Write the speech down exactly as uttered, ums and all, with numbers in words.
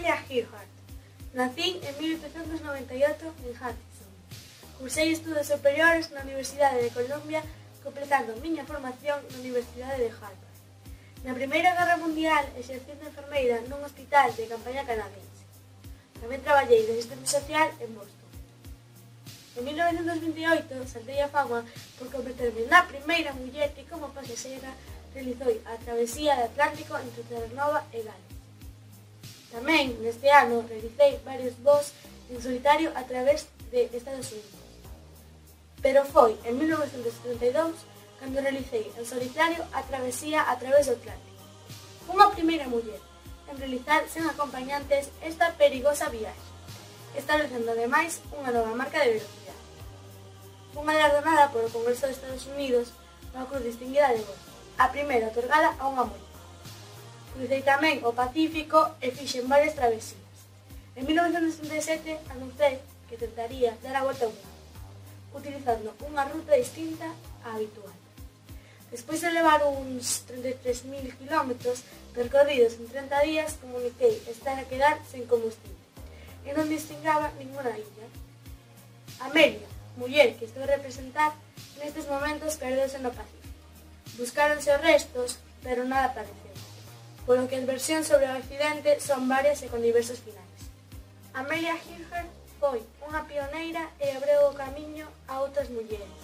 Amelia Earhart. Nacín en mil oitocentos noventa e oito en Hutchinson. Cursei estudos superiores na Universidade de Columbia, completando a miña formación na Universidade de Harvard. Na Primeira Guerra Mundial exercín de enfermeira nun hospital de campaña canadense. Tamén traballei de asistente social en Boston. En mil novecentos vinte e oito saltei a fama por converterme na primeira muller que como pasaxeira realizou a travesía do Atlántico entre Terranova e Gales. Tamén, neste ano, realicei varios voos en solitario a través de Estados Unidos. Pero foi en mil novecentos setenta e dous cando realicei en solitario a travesía a través do Atlántico. Unha primeira muller en realizar sen acompañantes esta perigosa viaxe, establecendo ademais unha nova marca de velocidade. Fun galardonada polo Congreso de Estados Unidos coa Cruz Distinguida de Boston, a primeira otorgada a unha muller. Crucei tamén o Pacífico e fixen varias travesías. En mil novecentos setenta e sete anunciei que tentaría dar a volta ao mundo, utilizando unha ruta distinta á habitual. Despois de levar uns trinta e tres mil kilómetros percorridos en trinta días, comuniquei estar a quedar sen combustible e non distingaba ninguna illa. Amelia, muller que estou a representar, nestes momentos perdeuse no Pacífico. Buscáronse os restos, pero nada apareceu, polo que as versións sobre o accidente son varias e con diversos finais. Amelia Earhart foi unha pioneira e abriu o camiño a outras mulleres.